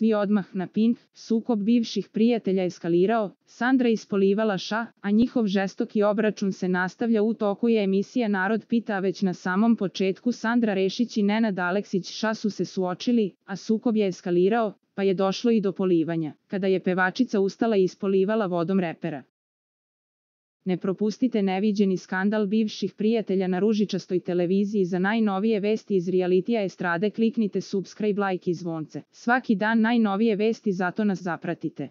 svi odmah na pin, sukob bivših prijatelja eskalirao, Sandra ispolivala ša, a njihov žestoki obračun se nastavlja. U toku je emisija Narod pita, a već na samom početku Sandra Rešić i Nenad Aleksić ša su se suočili, a sukob je eskalirao, pa je došlo i do polivanja, kada je pevačica ustala i ispolivala vodom repera. Ne propustite neviđeni skandal bivših prijatelja na ružičastoj televiziji. Za najnovije vesti iz realitija estrade kliknite subscribe, like i zvonce. Svaki dan najnovije vesti, zato nas zapratite.